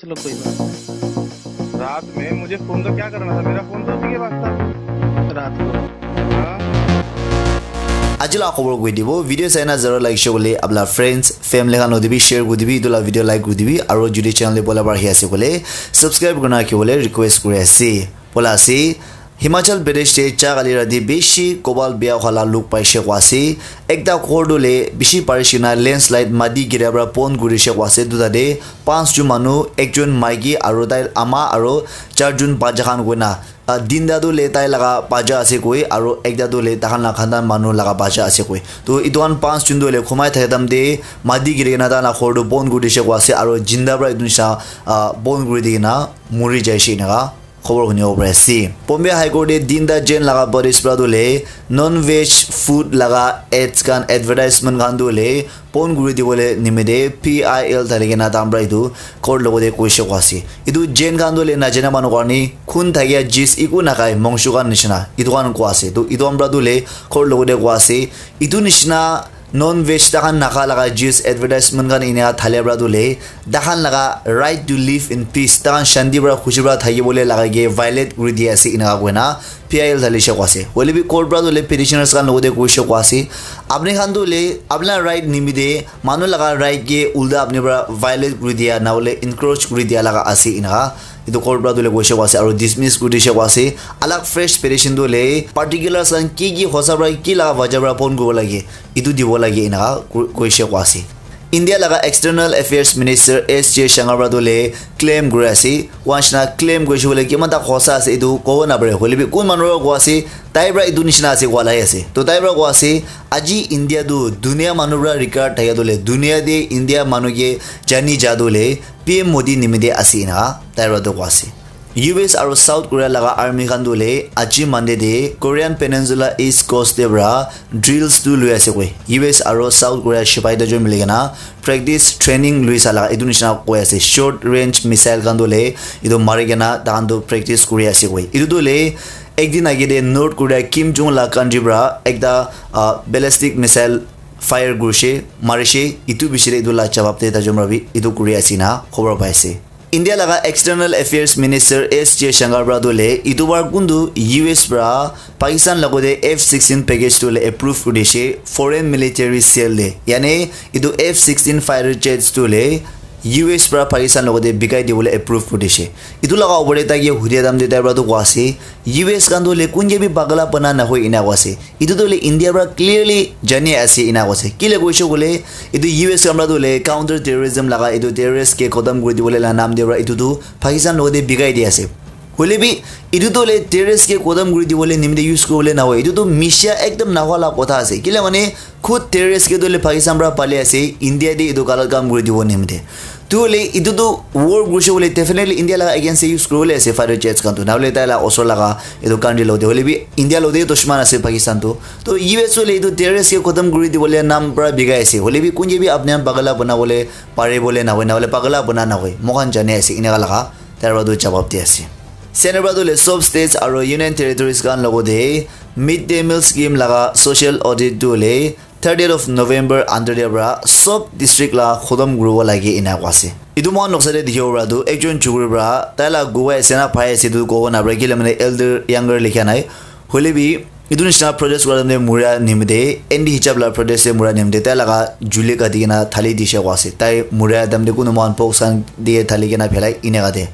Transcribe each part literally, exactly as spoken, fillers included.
चलो कोई बात नहीं। रात में मुझे फोन तो क्या करना था, मेरा फोन तो उसी के पास था। रात को। Aji la khobor koi dibo, video saina zara like share kole apna friends, family khan lodi bi share koi dibi, itu la video like koi dibi, aro jodi channel te bola bar hi ase kole subscribe kurna ki bole request kuri ase. Bola ase, Himachal Pradesh te cha kali rati bishi kobal bia khala luk paishe kwa ase. Ekta ghor tu le bishi parishi na landslide mati gira pra pon gurishe kwa ase. Duta de panch jon manu, ekjon maiki aro tai ama aro char jon bacha khan koina, ah, tinta tu le tai laga bacha ase koi aro ekta tu le tahan la khandan manu laga bacha ase koi. To itu khan panch jon tu le khumai thakidam de mati giri kena tahan la ghor tu pon gurishe kwa ase aro jinda pra itu nisha, ah, pon guri di kena muri jaishe enaka khobor hunibo pari ase. Bombay High Court te tinta Jain laga bodies pra tu le non veg food laga ads khan advertisement khan tu le pon kuri dibole nimite P I L thali kena tahan pra itu court logote koishe kwa ase. Itu Jain khan tu le najana manu karni khun thakia jis iku nakhai mongshu khan nishina itu khan kwa ase. Tu itu khan pra tu le court logote kwa ase. Itu nishina non veg tahan nakha laga juice advertisement khan enia thalia pra tu le tahan laga right to live in peace, tahan shanti pra khushi pra thaki bole laga ke violate kuri di ase enaka koina P I L thali she kwa ase. Hoile bi court pra tu le petitioners khan logote koishe kwa ase, apni khan tu le apna right nimite manu laga right ke ulta apni pra violate kuri dia na hole encroach kuri dia laga ase enaka itu court pra tu le koishe kwa ase aro dismiss kuri dishe kwa ase. Alag fresh petition tu le particulars khan ki ki hosa pra ki laga wajah pra pon kuribo lage itu dibo lage enaka ku- koishe kwa ase. India laga External Affairs Minister S Jaishankar pra tu le claim kuri ase. Wanshna claim koishe bole kiman ta hosa ase itu kobo napare. Hoile bi kun manu pra kwa ase, tai pra itu nishina ase kwa lai ase. To tai pra kwa ase, aji India tu dunia manu pra regard thaka tu le, dunia de India manu ke jani ja tu le P M Modi nimite ase enaka tai pra tu kwa ase. U S aro South Korea laga army khan tu le aji Monday de Korean Peninsula East Coast de pra drills tu lui ase koi. U S aro South Korea shipai ta jon mili kena practice training lui sa laga itu nishina koi ase. Short range missile khan tu le itu mari kena tahan tu practice kuri ase koi. Itu tu le ek din age de North Korea Kim Jong la country pra ekta, ah, ballistic missile fire kurishe, marishe, itu bishi de itu la jawab de ta jon pra bi itu kuri ase na khobor pai ase. India laga External Affairs Minister S Jaishankar pra tu le itu bar kuntu U S pra Pakistan logote F sixteen package tu le approve kuri dishe foreign military sale de, yane itu F sixteen fighter jets tu le U S pra Pakistan logote bikai dibole approve kuri dishe. Itu laga opor de tai ke hudia dam de tai pra tu kwa ase, U S khan tu le kun ke bi pagala bana na hoi ena kwa ase. Itu tu le India pra clearly jani ase ena kwa ase. Kile koishe kole itu U S khan pra tu le counter terrorism laga itu terrorist ke khotam kuri dibole la naam de pra itu tu Pakistan logote bikai di ase. Hoile bi itu tu le terrorist ke khotam kuri dibole nimite use kuribole na hoi. Itu tu misha ekdam na hwa la kotha ase. Kile mane khud terrorist ke tu le Pakistan pra pali ase, India de itu galat kam kuri dibo nimite. Tu le itu tu war kurishe bole definitely India laga against de use kuribole ase fighter jets khan tu. Na hole tai la osor laga itu country logote. Hoile bi India logote dushman ase Pakistan tu. To U S hole itu terrorist ke khotam kuri dibole naam pra bikai ase. Hoile bi kun ke bi apni khan pagala bana bole pare bole na hoi, na hole pagala bana na hoi. Moikhan jani ase enaka laga tai pra tu jawab di ase. Center pra tu le sob states aro union territories khan logote mid day meal scheme laga social audit tu le thirtieth of November under de pra sob district la khotom kuribo lage ena kwa ase. Itu moikhan noksa de dikhibo pra tu ekjon chukuri pra tai la guwai ase na pai ase itu kobo na pra kile mane elder younger likha nai. Hoile bi itu nishina protest kura time de muria nimite anti hijab la protest de muria nimite tai laga juli kati kena thali dishe kwa ase. Tai muria time de kunu moikhan box khan de thali kena phelai eneka de.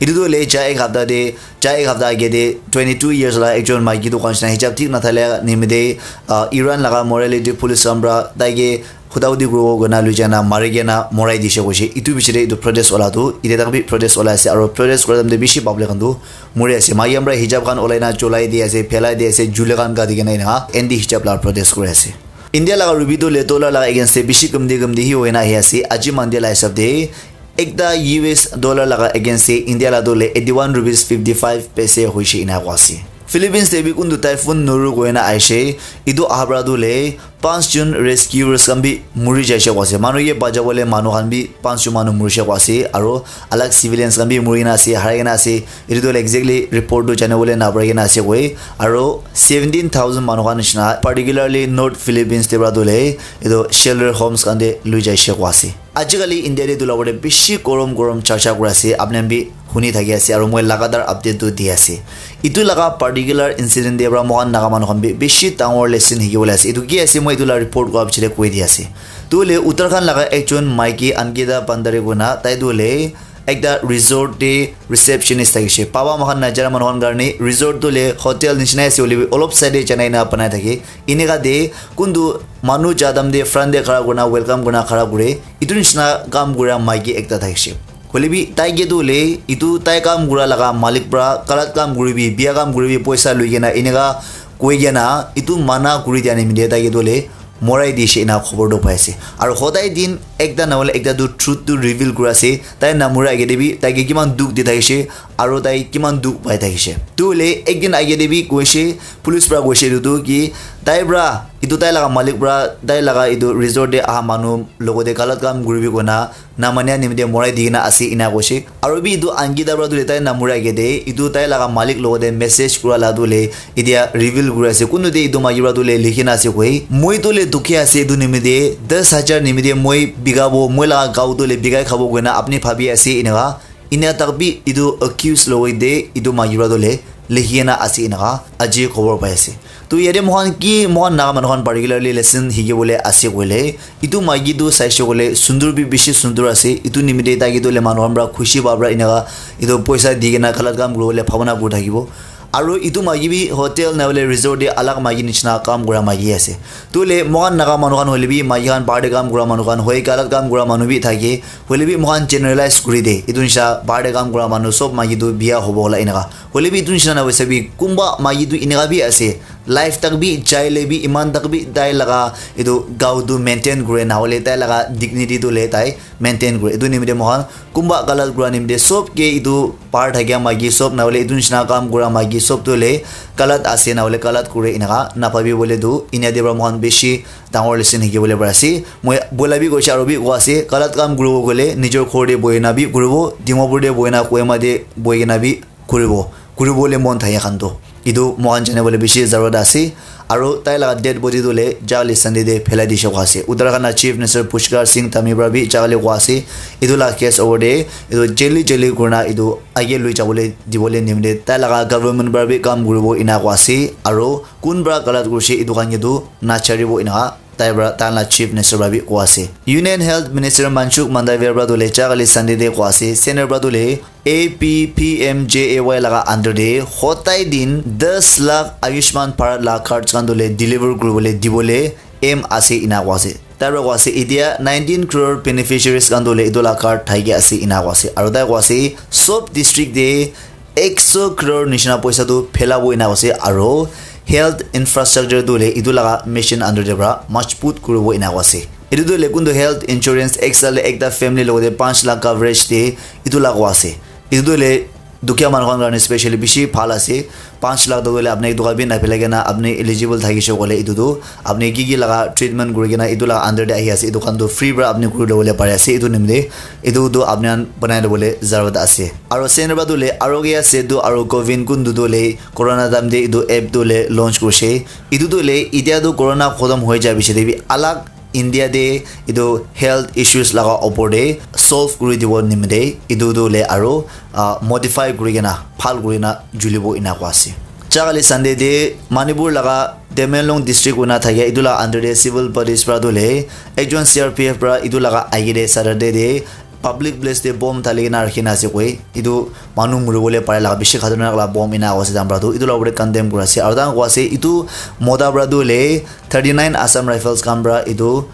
Itu tu hoile cha ek hapta de cha ek hapta age de twenty two years la ekjon maiki dukan nishina hijab thik nathalia nimite, ah, Iran laga morality police khan pra taike huda hudi kuribo koina lui jana mari kena morai dishe koishe. Itu piche de itu protest wala tu ite tak bi protest wala ase aro protest kura time de bishi public khan tu muri ase. Maiki khan pra hijab khan olai na cholai di ase, phelai di ase, juli khan kati kena ena anti hijab la protest kuri ase. India laga rupee tu le dollar laga against de bishi kamti kamti hi hoina ahi ase. Aji Monday la hisab de ekta U S dollar laga against de India la tu le eighty one rupees fifty five paise hoishe ena koa ase. Philippines de bi kuntu typhoon Noru koina aishe, itu aha pra tu le Panch jon rescuers khan bi muri jaise koa ase. Manu ke bachabole manu khan bi panch jon manu murishe koa ase, aro alag civilians khan bi muri kena ase, harai kena ase. Etu tu exactly report tu jane bole napari kena ase koi. Aro seventeen thousand manu khan nishina, particularly North Philippines te para tu le, etu shelter homes khan te lui jaise koa ase. Ajikali India te etu la opor te bishi gorom gorom charcha kuri ase, apni khan bi huni thaki ase, aro moi lagatar update tu di ase. Etu laga particular incident te para moikhan Naga manu khan bi bishi dangor lesson hiki bole ase. Etu ki ase, moi etu la report kura pichete koi di ase. Tu le Uttarakhand laga ekjon maiki Ankita Bhandari koi na, tai tu le ekta resort te receptionist thakishe. Baba moikhan najara manu khan karne resort tu le hotel nishina ase, hoile bi olop side te janai na banai thake. Eneka te kuntu manu jadam te front te khara kurina welcome kurina khara kure. Etu nishina kam kura maiki ekta thakishe. Hoile bi tai ke tu hoile etu tai kam kura laga malik para galat kam kuribi, bia kam kuribi, poisa lui kena eneka koi kena etu mana kuri dia nimite tai ke tu hoile morai dishe ena khobor tu pai ase. Aro hodai din ekta na hoile ekta tu truth tu reveal kuri ase. Tai namura age te bi tai ke kiman dukh di thakishe aro tai kiman dukh pai thakishe. Tu hoile ekdin age te bi koishe, police para koishe etu tu ki tai para etu tai laga malik para tai laga etu resort te aha manu logote galat kam kuribi koina namania nimite morai dikena ase ena koishe. Aro bi etu Ankita para tu le tai namura age te etu tai laga malik logote message kura la tu le etia reveal kuri ase. Kuntu te etu maiki para tu le likhi na ase koi, "Moi tu le dukhi ase etu nimite, das hajar nimite moi bikabo, moi laga gao tu le bikai khabo koina apni bhabi ase," eneka. Enia tak bi etu accuse logote etu maiki para tu le likhi kena ase eneka aji khobor pai ase. Tu yate moikhan ki, moikhan Naga manu khan particularly lesson hiki bole ase koile, etu maiki tu saishe koile sundur bi bishi sundur ase. Etu nimite tai ke tu le manu khan para khushi pa para eneka etu poisa di kena galat kam kuri bole bhabana kuri thakibo. Aro etu maiki bi hotel na hoile resort te alag maiki nishina kam kura maiki ase. Tu le moikhan Naga manu khan hoile bi maiki khan bahar te kam kura manu khan hoi galat kam kura manu bi thake. Hoile bi moikhan generalize kuri de. Etu nishina bahar te kam kura manu sob maiki tu bia hobo hola eneka. Hoile bi etu nishina na hoise bi kunba maiki tu eneka bi ase. Life tak bi jai le bi iman tak bi tai laga etu gao tu maintain kure na hoile tai laga dignity tu le tai maintain kure. Etu nimite moikhan kunba galat kura nimite sob ke etu bahar thakia maiki sob na hoile etu nishina kam kura maiki sob tu le galat ase na hoile galat kure eneka na bhabi bole tu enia te para moikhan bishi dangor lesson hiki bole pari ase. Moi bola bi koishe aro bi koi ase, galat kam kuribo koile nijor ghor te bohi na bi kuribo, Dimapur te bohi na, Kohima te bohi kena bi kuribo, kuribole mon thake khan toh. Etu moikhan jane bole bishi zarurat ase. Aro tai laga dead body tu le jali Sunday te phelai dishe koi ase. Uttarakhand la Chief Minister Pushkar Singh Dhami para bi jali koi ase. Etu la case over te etu jali jali kurina etu age lui jabole dibole nimite tai laga government para bi kam kuribo ena koi ase. Aro kun para galat kurishe etu khan ke tu nacharibo ena tai para tai la Chief Minister para bi koi ase. Union Health Minister Mansukh Mandaviya para tu le jali Sunday te koi ase. Center para tu le A P P M J A Y laga under te hodai din das lakh Ayushman Bharat la cards khan tu le deliver kuribole dibole aim ase ena koi ase. Tai para koi ase etia nineteen crore beneficiaries khan tu le etu la card thaiki ase ena koi ase. Aro tai koi ase sob district te ekso crore nishina poisa tu phelabo ena koi ase. Aro health infrastructure tu le etu laga mission under te para majbut kuribo ena koi ase. Etu tu le kuntu health insurance ek saal te ekta family logote panch lakh coverage de etu la koi ase. Etu tu le dukhia manu khan karne specially bishi bhal ase. Panch lakh tu hoile apni etu khan bi naphelai kena apni eligible thakishe koile etu tu apni ki ki laga treatment kuri kena etu laga under te ahi ase etu khan tu free para apni kuri lobole pari ase. Etu nimite etu tu apni khan banai lobole zarurat ase. Aro center para tu le Arogya Setu aro Covin kuntu tu le corona time te etu app tu le launch kurishe. Etu tu le etia tu corona khotom hoi ja piche te bi alag India te etu health issues laga opor te solve kuri dibo nimite etu tu le aro ah, modify kuri kena bhal kuri na julibo ena koi ase. Jali Sunday te Manipur laga Tamenglong district koi na thakia etu laga under te civil bodies para tu le ekjon C R P F para etu laga age te Saturday te public place te bomb thali kena rakhi na ase koi. Etu manu muribole pare laga bishi khatarnak laga bomb ena koi ase tai khan para tu. Etu laga opor te condemn kuri ase. Aro tai khan koi ase etu mota para tu le thirty nine Assam Rifles khan para etu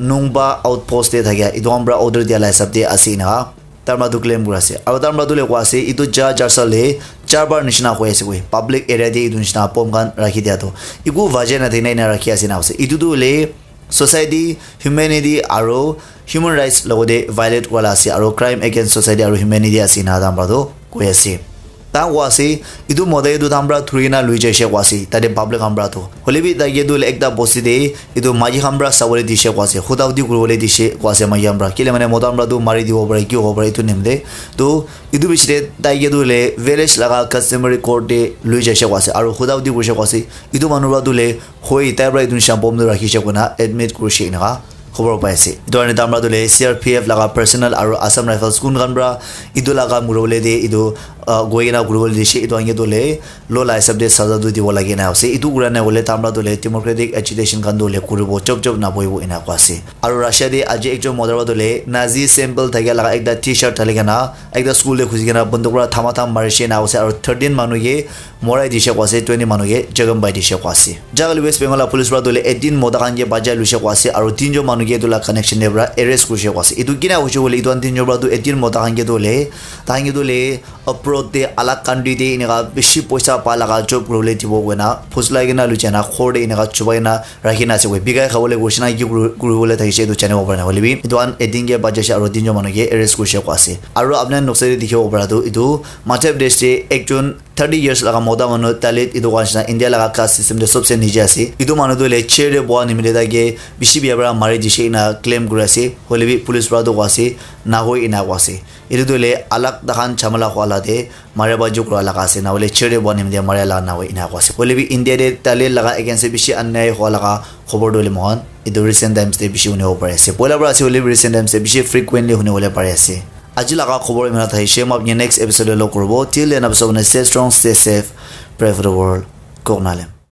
Nungba outpost te thakia etu khan para order dia laga hisab te ase ena tai khan para tu claim kuri ase. Aro tai khan para tu le koi ase etu ja jarsa le charbar nishina hoi ase koi. Public area te etu nishina bomb khan rakhi dia tu eku vajah na thakina ena rakhi ase ena koi ase. Etu tu le society, humanity aro human rights logote violate kura la ase aro crime against society aro humanity ase ena tai khan para tu koi ase. Ta koa ase, etu mota etu tahan pra thuri na lui jaise koa ase, tate public khan pra tu. Hoile bi tai ke tu hoile ekta bosti te etu maiki khan pra sabole dise koa ase, huda hudi kuribole dise koa ase maiki khan pra. Kile mane mota khan pra tu mari dibo pare, ki hobo pare, etu nimite. Tu etu bishi te tai ke tu hoile village laga customary court te lui jaise koa ase, aru huda hudi kurise koa ase. Etu manu pra tu hoile hoi tai pra etu nisha bom tu rakhi se koina admit kurise eneka khobor pai ase. Etu karne tahan pra tu hoile C R P F laga personnel aru Assam Rifles kun khan pra etu laga muribole te etu ah, goi kena kuribole dise, etu khan ke tu hoile law la hisab te saza tu dibo lage na ase. Etu kura nai hoile tahan pra tu hoile democratic agitation khan tu hoile kuribo, chop chop nabohibo ena koa ase. Aru Russia te aji ekjon mota pra tu hoile Nazi symbol thakia laga ekta T-shirt thali kena ekta school te khusi kena banduk pra thama tham marise ena koa ase. Aru thirteen manu ke morai dise koa ase, twenty manu ke jakham pai dise koa ase. Jaga hoile West Bengal la police pra tu hoile eighteen mota khan ke bachai luise koa ase, aru tinjon manu ke etu la connection te pra arrest kurise koa ase. Etu kina hoise koile etu khan tinjon pra tu eighteen mota khan ke tu hoile, tahan ke tu hoile abroad te alag country te eneka bishi poisa pa laga job kuribole dibo koina phusla kena lui jai na ghor te eneka chubai na rakhi na ase koi. Bikai khabole koise na ki kuri, kuribole thakise etu janibo pare na. Hoile bi etu khan eighteen ke bachaise aru tinjon manu ke arrest kurise koa ase. Aru apni khan noksa te dikhibo para tu etu Madhya Pradesh te ekjon thirty years laga mota manu Dalit etu koa nishina India laga caste system te sobse niche ase. Etu manu tu hoile chair te boha nimite tai ke bishi bia para mari dise ena claim kuri ase. Hoile bi police para tu koa ase nahoi ena koa ase. Etu tu hoile alag tahan jhamala hua la te maria baji kura laga ase, na hoile chair te boha nimite maria laga nahoi ena koa ase. Hoile bi India te Dalit laga against te bishi anyai hua laga khobor tu hoile moikhan etu recent times te bishi hunibo pari ase. Poila para ase hoile bi recent times te bishi frequently huni bole pari ase. Aji laga khobor imana thaise, moi apni next episode te log kuribo. Till then, apni sob stay strong, stay safe, pray for the world. Kok Nalem.